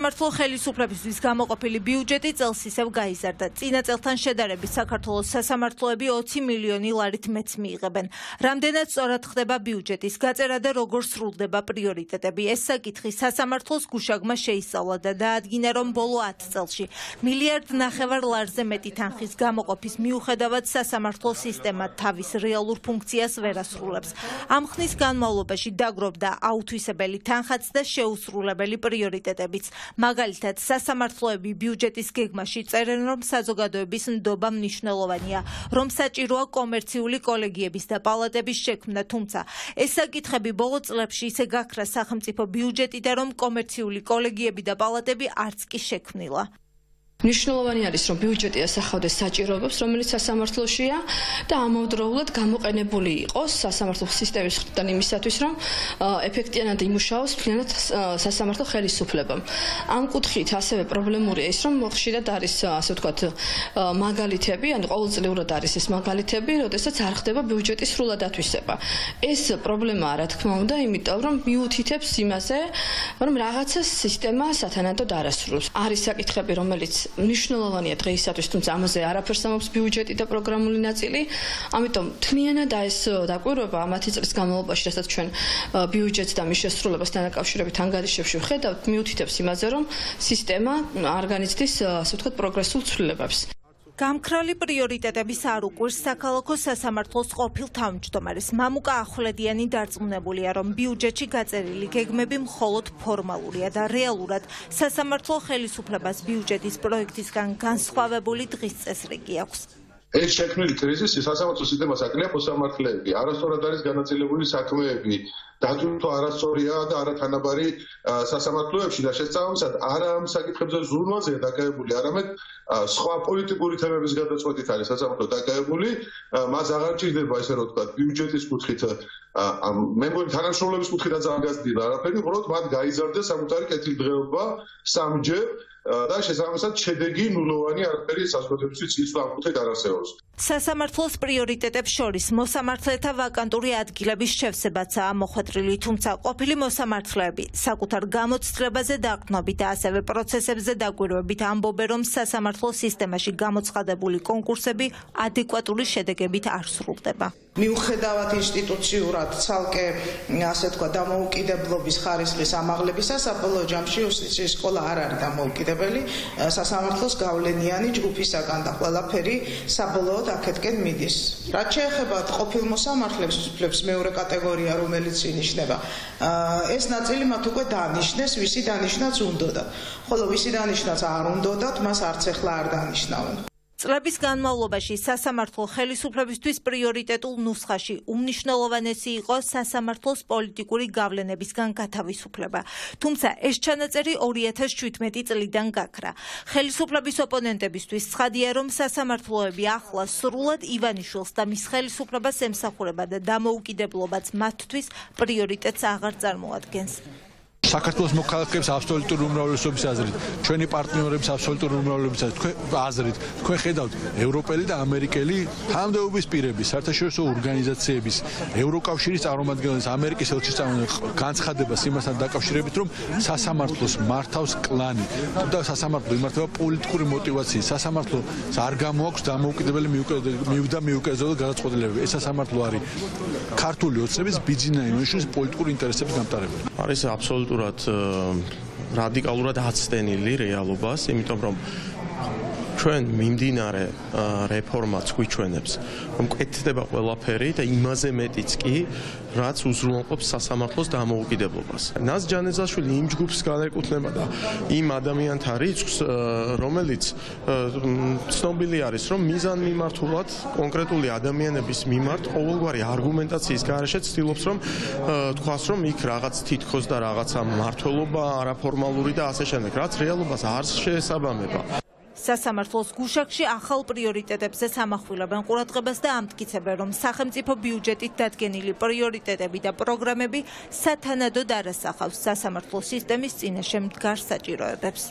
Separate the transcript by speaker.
Speaker 1: მართლ ხელისუფლებისთვის გამოყოფილი ბიუჯეტი წელს ისევ გაიზარდა. წინა წელთან შედარებით საქართველოს სასამართლოები 20 მილიონი ლარით მეც მიიღებენ. რამდენად სწორად ხდება ბიუჯეტის გაწერა და როგორ სრულდება პრიორიტეტები. ეს საკითხი სასამართლოს გუშაგმა შეისწავლა და დაადგინა, რომ ბოლო 10 წელში 1,5 მილიარდ ლარზე მეტი თანხის გამოყოფის მიუხედავად სასამართლო სისტემა თავის რეალურ ფუნქციას ვერ ასრულებს. ამ ხნის განმავლობაში დაგროვდა აუთვისებელი თანხაც და შეუსრულებელი პრიორიტეტებიც. მაგალითად, სასამართლოები ბიუჯეტის გეგმაში წერენ, რომ საზოგადოების ნდობა მნიშვნელოვანია, რომ საჭიროა კომერციული კოლეგიების და პალატების შექმნა, თუმცა ეს საკითხები ბოლო წლებში ისე გაქრა სახელმწიფო ბიუჯეტიდან, რომ კომერციული კოლეგიები და პალატები არც კი შექმნილა.
Speaker 2: მნიშვნელოვანი არის, რომ ბიუჯეტი ასახავდეს საჭიროებებს, რომელიც სასამართლოშია და ამავდროულად გამოყენებული იყოს სასამართლო სისტემის მხრიდან იმისათვის, რომ ეფექტიანად იმუშაოს მთლიანად სასამართლო ხელისუფლება. ამ კუთხით ასევე პრობლემურია ის, რომ ხშირად არის, ასე ვთქვათ, მაგალითები, ანუ ყოველწლიურად არის ეს მაგალითები, როდესაც არ ხდება ბიუჯეტის სრულად ათვისება. ეს პრობლემაა, რა თქმა უნდა, იმიტომ რომ მიუთითებს იმაზე, რომ რაღაცა სისტემა სათანადოდ არ ასრულებს. არის საკითხები, რომელიც მნიშვნელოვანია დღეისათვის, თუმცა ამაზე არაფერს ამობს ბიუჯეტი და პროგრამული ნაწილი. ამიტომ თლიანად ეს დაკვირვება 10 წლის განმავლობაში, რასაც ჩვენ ბიუჯეტს და მის შესრულებასთან დაკავშირებით ანგარიშებში ვხედავთ, მიუთითებს იმაზე, რომ სისტემა არ განიცდის, ასე ვთქვათ, პროგრესულ ცვლილებებს.
Speaker 1: გამქრალი პრიორიტეტების არ უყვირს საქალაქო სასამართლოს ყოფილ თავმჯდომარეს. მამუკა ახვლედიანი დარწმუნებულია, რომ ბიუჯეტში გაწერილი გეგმები მხოლოდ ფორმალურია და რეალურად სასამართლო ხელისუფლებას ბიუჯეტის პროექტისგან განსხვავებული დღის წესრიგი აქვს.
Speaker 3: ეს შექმნილი კრიზისი სასამართლო სისტემას აკლია მოსამართლეები, არასწორად არის განაწილებული საქმეები, დატვირთვა არასწორია და არათანაბარი სასამართლოებში და შესაბამისად არა ამ საკითხებზე ზრუნვაზეა დაკავებული, არამედ სხვა პოლიტიკური თემების გადაწყვეტით არის სასამართლო დაკავებული. მას აღარ ჭირდება, ესე რომ ვთქვათ, ბიუჯეტის კუთხით, მე მგონი თანამშრომლობის კუთხითაც არ გაზრდილი არაფერი, უბრალოდ მათ გაიზარდა საკუთარი კეთილდღეობა სამჯერ და შესაბამისად შედეგი ნულოვანი არაფერი საზოგადოებისთვის ის ამ კუთხით არ არსებობს.
Speaker 1: სასამართლოს პრიორიტეტებს შორის მოსამართლეთა ვაკანტური ადგილების შევსებაცაა მოხვედრილი, თუმცა ყოფილი მოსამართლეები საკუთარ გამოცდილებაზე დაყრდნობით და ასევე პროცესებზე დაკვირვებით ამბობენ, რომ სასამართლო სისტემაში გამოცხადებული კონკურსები ადეკვატური შედეგებით არ სრულდება.
Speaker 4: მიუხედავად ინსტიტუციურად ცალკე, ასე ვთქვათ, დამოუკიდებლობის ხარისხის ამაღლებისა, საბოლოო ჯამში იუსტიციის სკოლა არ არის დამოუკიდებელი, სასამართლოს გავლენიანი ჯგუფისაგან და ყველაფერი საბოლოოდ აქეთკენ მიდის. რაც შეეხება ყოფილ მოსამართლეებს მეორე კატეგორია, რომელიც ინიშნება, ეს ნაწილი მათ უკვე დანიშნეს, ვისი დანიშნაც უნდოდა. ხოლო ვისი დანიშნაც არ უნდოდათ, მას არც ახლა არ დანიშნავენ.
Speaker 1: წლების განმავლობაში სასამართლო ხელისუფლებისთვის პრიორიტეტულ ნუსხაში უმნიშვნელოვანესი იყო სასამართლოს პოლიტიკური გავლენებისგან გათავისუფლება. თუმცა ეს ჩანაწერი 2017 წლიდან გაქრა. ხელისუფლების ოპონენტებისთვის ცხადია, რომ სასამართლოები ახლა სრულად ივანიშვილს და მის ხელისუფლებას ემსახურება და დამოუკიდებლობაც მათთვის პრიორიტეტს აღარ წარმოადგენს.
Speaker 5: საქართველოს მოქალაქეებს აბსოლუტური უმრავლესობის აზრით, ჩვენი პარტნიორების აბსოლუტური უმრავლესობის აზრით, თქვენ ხედავთ ევროპელი და ამერიკელი თანამდებობის პირების, საერთაშორისო ორგანიზაციების, ევროკავშირის წარმომადგენლების, ამერიკის ელჩის წარმომადგენლების განცხადებას იმასთან დაკავშირებით, რომ სასამართლოს მართავს კლანი და სასამართლო იმართება პოლიტიკური მოტივაციით. სასამართლოს არ გამოაქვს დამოუკიდებელი მიუგრძელებელი გადაწყვეტილებები. ეს სასამართლო არის ქართული ოცნების ბიძინა იმუშის პოლიტიკური ინტერესების გამტარებელი.
Speaker 6: არის აბსოლუტურად რადიკალურად აცდენილი რეალობას, იმიტომ რომ ჩვენ მიმდინარე რეფორმაც გვიჩვენებს, რომ კეთდება ყველაფერი და იმაზე მეტიც კი, რაც უზრუნველყოფს სასამართლოს დამოუკიდებლობას. ნაზ ჯანეძაშვილი იმ ჯგუფს განეკუთვნება და იმ ადამიანთა რიცხვს, რომელიც ცნობილი არის, რომ მიზანმიმართულად კონკრეტული ადამიანების მიმართ ყოველგვარი არგუმენტაციის გარეშე ცდილობს, რომ თქვას, რომ იქ რაღაც თითქოს და რაღაცა მმართველობა არაფორმალური და ასე შემდეგ, რაც რეალობას არ შეესაბამება.
Speaker 1: სასამართლოს გუშაგში ახალ პრიორიტეტებზე სამახვილებენ ყურადღებას და ამტკიცებენ, რომ სახელმწიფო ბიუჯეტით დადგენილი პრიორიტეტები და პროგრამები სათანადოდ არ ასახავს სასამართლო სისტემის წინაშე მდგარ საჭიროებებს.